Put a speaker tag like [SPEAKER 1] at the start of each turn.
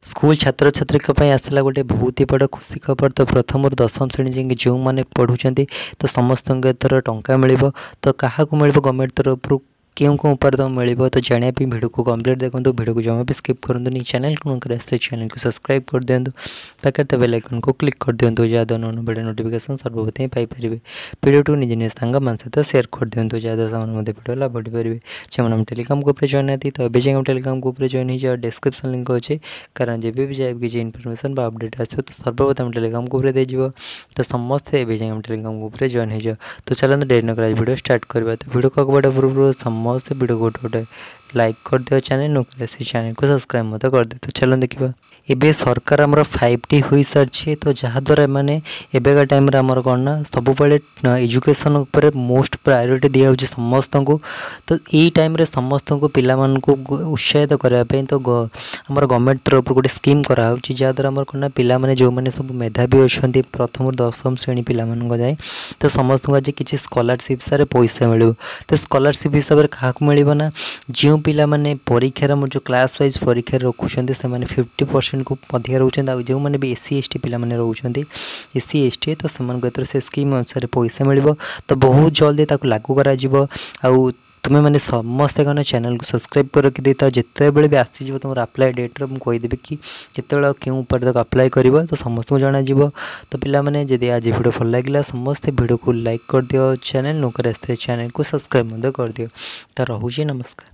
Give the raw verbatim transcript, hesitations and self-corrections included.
[SPEAKER 1] School ଛାତ୍ରଛାତ୍ରୀଙ୍କ ପାଇଁ ଆସିଲା ଗୋଟେ ବହୁତ ହି ବଡ଼ ଖୁସି ଖବର। ତ ପ୍ରଥମରୁ ଦଶମ ଶ୍ରେଣୀ ଯାଏଁ ଯେଉଁମାନେ ପଢ଼ୁଛନ୍ତି, ତ ସମସ୍ତଙ୍କୁ ଏଥର ଟଙ୍କା ମିଳିବ। ତ କାହାକୁ ମିଳିବ, ଗଭର୍ଣ୍ଣମେଣ୍ଟ ତରଫରୁ କେଉଁ କେଉଁ ଉପାୟରେ ତୁମକୁ ମିଳିବ, ତ ଜାଣିବା ପାଇଁ ଭିଡ଼ିଓକୁ କମ୍ପ୍ଲିଟ୍ ଦେଖନ୍ତୁ। ଭିଡ଼ିଓକୁ ଜମା ବି ସ୍କିପ୍ କରନ୍ତୁନି। ଚ୍ୟାନେଲକୁ ନୂଆ କରି ଆସିଲେ ଚ୍ୟାନେଲକୁ ସବସ୍କ୍ରାଇବ୍ କରିଦିଅନ୍ତୁ, ପାଖରେ ଥିବା ବେଲ୍ ଆଇକନ୍କୁ କ୍ଲିକ୍ କରିଦିଅନ୍ତୁ, ଯାହାଦ୍ୱାରା ନୂଆ ଭିଡ଼ିଓ ନୋଟିଫିକେସନ୍ ସର୍ବପ୍ରଥମେ ପାଇପାରିବେ। ଭିଡ଼ିଓଟିକୁ ନିଜ ନିଜ ସାଙ୍ଗମାନଙ୍କ ସହିତ ସେୟାର କରିଦିଅନ୍ତୁ, ଯାହାଦ୍ୱାରା ସେମାନେ ମଧ୍ୟ ଭିଡ଼ିଓ ଲାଭ ଉଠାଇପାରିବେ। ଯେଉଁମାନେ ଆମ ଟେଲିଗ୍ରାମ ଗ୍ରୁପ୍ରେ ଜଏନ୍ ନାହାନ୍ତି, ତ ଏବେ ଯାଇ ଆମ ଟେଲିଗ୍ରାମ ଗ୍ରୁପ୍ରେ ଜଏନ୍ ହେଇଯାଅ। ଡେସ୍କ୍ରିପ୍ସନ୍ ଲିଙ୍କ୍ ଅଛି, କାରଣ ଯେବେ ବି ଯାଏ କିଛି ଇନଫର୍ମେସନ୍ ବା ଅପଡ଼େଟ୍ ଆସିବ, ତ ସର୍ବପ୍ରଥମେ ଟେଲିଗ୍ରାମ ଗ୍ରୁପ୍ରେ ଦେଇଯିବ। ତ ସମସ୍ତେ ଏବେ ଯାଇ ଆମ ଟେଲିଗ୍ରାମ ଗ୍ରୁପ୍ରେ ଜଏନ୍ ହେଇଯାଅ। ତ ଚାଲନ୍ତୁ, ଡେରି ନକରି ଆଜି ଭିଡ଼ିଓ ଷ୍ଟାର୍ଟ କରିବା। ତ ଭିଡ଼ିଓ ଆଗକୁ ବଢ଼ିବା ପୂର୍ବରୁ ସମସ୍ତେ ଭିଡ଼ିଓ ଗୋଟେ ଗୋଟେ ଲାଇକ୍ କରିଦିଅ, ଚ୍ୟାନେଲ୍ ନୂଆ କରି ସେ ଚ୍ୟାନେଲକୁ ସବସ୍କ୍ରାଇବ୍ ମଧ୍ୟ କରିଦିଅ। ତ ଚାଲନ୍ତୁ ଦେଖିବା। ଏବେ ସରକାର ଆମର ଫାଇଭ୍ ଟି ହୋଇସାରିଛି, ତ ଯାହାଦ୍ୱାରା ଏମାନେ ଏବେକା ଟାଇମ୍ରେ ଆମର କ'ଣ ନା ସବୁବେଳେ ଏଜୁକେସନ୍ ଉପରେ ମୋଷ୍ଟ ପ୍ରାୟୋରିଟି ଦିଆହେଉଛି ସମସ୍ତଙ୍କୁ। ତ ଏଇ ଟାଇମ୍ରେ ସମସ୍ତଙ୍କୁ ପିଲାମାନଙ୍କୁ ଉତ୍ସାହିତ କରିବା ପାଇଁ ତ ଆମର ଗଭର୍ଣ୍ଣମେଣ୍ଟ ତରଫରୁ ଗୋଟେ ସ୍କିମ୍ କରାହେଉଛି, ଯାହାଦ୍ୱାରା ଆମର କ'ଣ ନା ପିଲାମାନେ ଯେଉଁମାନେ ସବୁ ମେଧାବୀ ଅଛନ୍ତି, ପ୍ରଥମରୁ ଦଶମ ଶ୍ରେଣୀ ପିଲାମାନଙ୍କ ଯାଏଁ, ତ ସମସ୍ତଙ୍କୁ ଆଜି କିଛି ସ୍କଲାରସିପ୍ ହିସାବରେ ପଇସା ମିଳିବ। ତ ସ୍କଲାରସିପ୍ ହିସାବରେ କାହାକୁ ମିଳିବ ନା ଯେଉଁ ପିଲାମାନେ ପରୀକ୍ଷାରେ ଆମର ଯେଉଁ କ୍ଲାସ୍ ୱାଇଜ୍ ପରୀକ୍ଷାରେ ରଖୁଛନ୍ତି, ସେମାନେ ଫିଫ୍ଟି ପରସେଣ୍ଟକୁ ଅଧିକା ରହୁଛନ୍ତି, ଆଉ ଯେଉଁମାନେ B S C S T ପିଲାମାନେ ରହୁଛନ୍ତି, ଏସ୍ ସି ଏସ୍ ଟି, ତ ସେମାନଙ୍କୁ ଏଥର ସେ ସ୍କିମ୍ ଅନୁସାରେ ପଇସା ମିଳିବ। ତ ବହୁତ ଜଲ୍ଦି ତାକୁ ଲାଗୁ କରାଯିବ। ଆଉ ତୁମେମାନେ ସମସ୍ତେ କ'ଣ ଚ୍ୟାନେଲକୁ ସବସ୍କ୍ରାଇବ୍ କରି ରଖିଦେଇଥାଅ। ଯେତେବେଳେ ବି ଆସିଯିବ ତୁମର ଆପ୍ଲାଏ ଡେଟ୍ର, ମୁଁ କହିଦେବି କି କେତେବେଳେ ଆଉ କେଉଁ ଉପାୟରେ ତାକୁ ଆପ୍ଲାଏ କରିବ, ତ ସମସ୍ତଙ୍କୁ ଜଣାଯିବ। ତ ପିଲାମାନେ, ଯଦି ଆଜି ଭିଡ଼ିଓ ଭଲ ଲାଗିଲା, ସମସ୍ତେ ଭିଡ଼ିଓକୁ ଲାଇକ୍ କରିଦିଅ, ଚ୍ୟାନେଲ୍ ନୂଆ କରି ଆସିଥିଲେ ଚ୍ୟାନେଲକୁ ସବସ୍କ୍ରାଇବ୍ ମଧ୍ୟ କରିଦିଅ। ତ ରହୁଛି, ନମସ୍କାର।